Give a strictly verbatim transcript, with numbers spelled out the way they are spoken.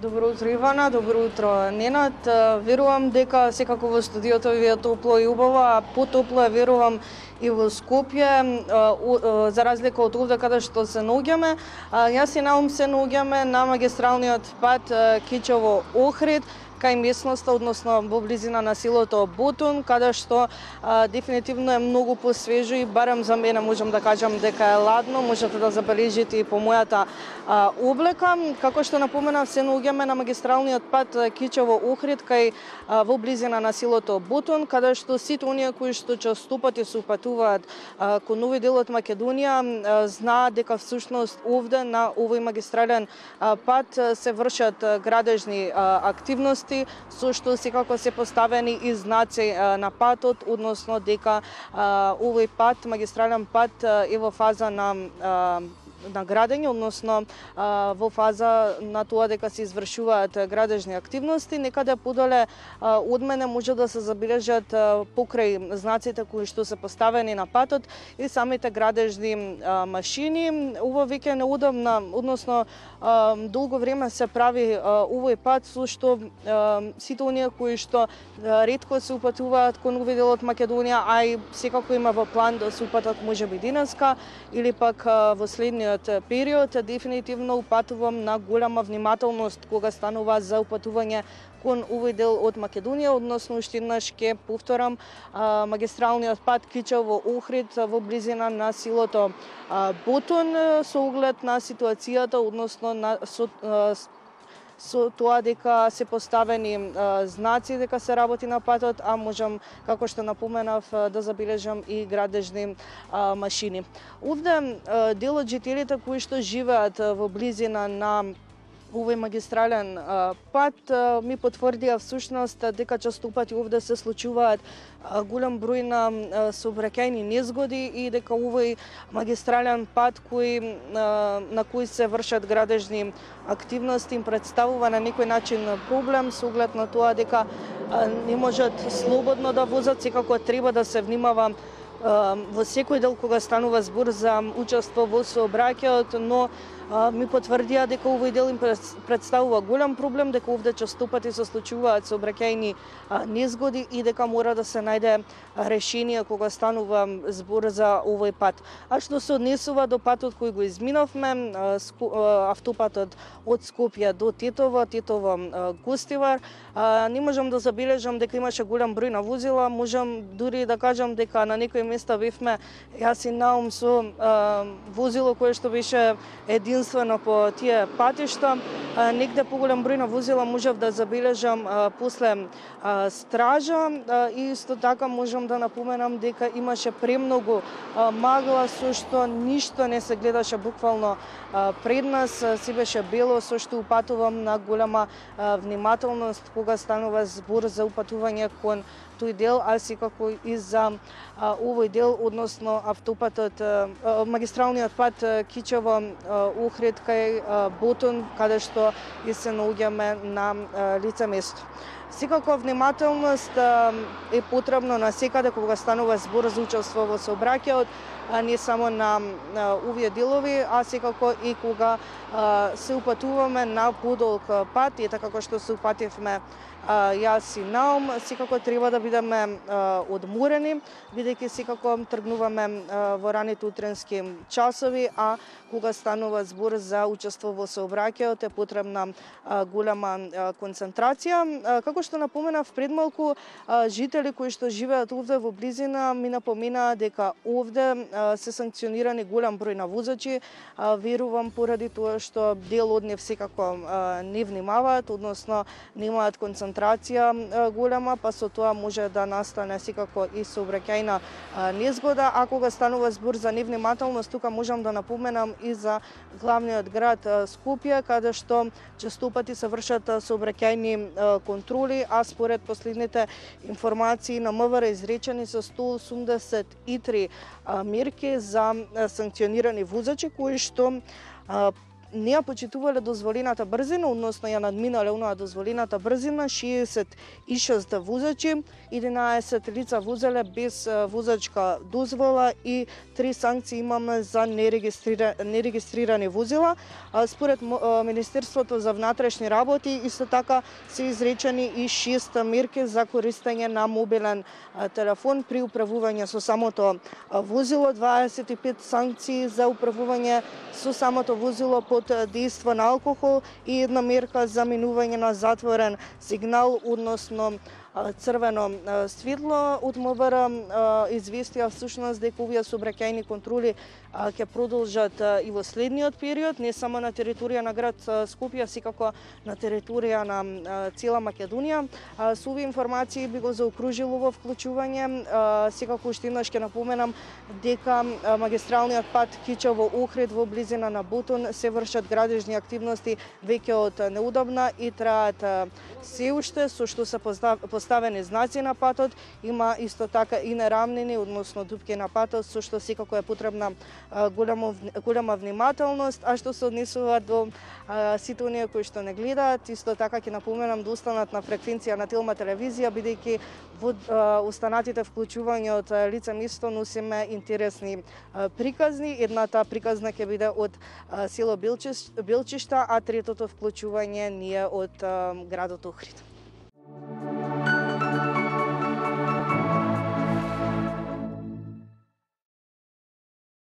Добро утро, Ивана, добро утро, Ненад. Верувам дека секако во студиото ви е топло и убаво, а потопло е верувам и во Скопје, за разлика од овде каде што се наоѓаме. Јас и Наум се наоѓаме на магистралниот пат Кичево-Охрид, кај местноста, односно во близина на селото Бутун, каде што а, дефинитивно е многу посвежо и барем за мене можам да кажам дека е ладно, можете да забележите и по мојата а, облека. Како што напоменав, се наоѓаме на магистралниот пат Кичево-Охрид, кај а, во близина на селото Бутун, каде што сите оние кои што честопати се упатуваат а, кон овој дел од Македонија а, знаат дека всушност овде на овој магистрален а, пат се вршат градежни а, активности, со што секако се поставени и знаци на патот, односно дека а, овој пат, магистрален пат е во фаза на а, на градење, односно а, во фаза на тоа дека се извршуваат градежни активности. Некаде подоле а, од мене може да се забележат а, покрај знаците кои што се поставени на патот и самите градежни а, машини. Ова веќе неудобна, односно а, долго време се прави а, овој пат, со што а, сите оние кои што а, ретко се упатуваат кон овој дел од Македонија, а и секако има во план да се упатат можеби денеска или пак а, во следниот период, дефинитивно упатувам на голема внимателност кога станува за упатување кон овој дел од Македонија, односно уште еднаш ќе повторам а, магистралниот пат Кичево-Охрид во близина на селото Бутун, со оглед на ситуацијата, односно на со, а, со тоа дека се поставени а, знаци дека се работи на патот, а можам, како што напоменав, да забележам и градежни а, машини. Овде а, дел од жителите кои што живеат во близина на овој магистрален а, пат а, ми потврдија всушност дека честопати овде се случуваат а, голем број на а, сообраќајни незгоди и дека овој магистрален пат кој, а, на кој се вршат градежни активности им представува на некој начин проблем со оглед на тоа дека а, не можат слободно да возат, секако треба да се внимава а, во секој дел кога станува збор за учество во сообраќајот, но ми потврдија дека овој дел им представува голем проблем, дека овде честопати се случуваат сообраќајни незгоди и дека мора да се најде решение кога станува збор за овој пат. А што се однесува до патот кој го изминавме, автопатот од Скопје до Тетово, Тетово-Гостивар, не можам да забележам дека имаше голем број на возила, можам дури да кажам дека на некои места бевме јас и Наум со возило кое што беше един единствено по тие патишта. Негде поголем број на возила можев да забележам а, после а, стража а, и исто така можам да напоменам дека имаше премногу а, магла со што ништо не се гледаше буквално а, пред нас, се беше бело, со што упатувам на голема а, внимателност кога станува збор за упатување кон тој дел, а секако и за а, овој дел, односно автопатот, а, магистралниот пат Кичево-Охрид кај а, Бутун, каде што и се наоѓаме на а, лице место. Секако внимателност а, е потребно на секаде кога станува збор за учество во сообраќајот, а не само на, на овие делови, а секако и кога а, се упатуваме на подолг пат, и така како што се упативме а, јас и Наум, секако треба да бидеме а, одморени, бидејќи секако тргнуваме а, во раните утренски часови, а кога станува збор за учество во сообраќајот е потребна а, голема а, концентрација. А, како што напоменав пред малку, а, жители кои што живеат овде во близина ми напомена дека овде а, се санкционирани голем број на возачи. А, верувам поради тоа што дел од нив секако а, не внимаваат, односно немаат концентрација а, голема, па со тоа може да настане секако и сообраќајна незгода. А кога станува збор за невнимателност, тука можам да напоменам и за главниот град Скопје, каде што честопати се вршат сообраќајни контроли, а според последните информации на МВР изречени се сто осумдесет и три мерки за санкционирани возачи кои што не ја почитувале дозволената брзина, односно ја надминале онаа дозволената брзина, шеесет и шест возачи, единаесет лица возеле без возачка дозвола и три санкции имаме за нерегистрира, нерегистрирани возила. Според Министерството за внатрешни работи исто така се изречени и шест мерки за користење на мобилен телефон при управување со самото возило, дваесет и пет санкции за управување со самото возило под дејство на алкохол и една мерка за минување на затворен сигнал, односно црвено светло. Од МВР известија всушност дека овие сообраќајни контроли ќе продолжат и во следниот период, не само на територија на град Скопје, секако на територија на цела Македонија. Со овие информации би го заокружил ово вклучување. Секако уште еднаш ќе напоменам дека магистралниот пат Кичево-Охрид во близина на Ботон се вршат градежни активности веќе од неудобна и траат се уште, со што се поставени знаци на патот, има исто така и нерамнини, односно дупки на патот, со што секако е потребна голема, голема внимателност. А што се однесува до а, сите оние кои што не гледаат, исто така ќе напоменам да останат на фреквенција на Телма телевизија, бидејќи во а, останатите вклучувања од лице место носиме интересни а, приказни. Едната приказна ќе биде од а, село Белчишта, а третото вклучување ние од а, градот Охрид.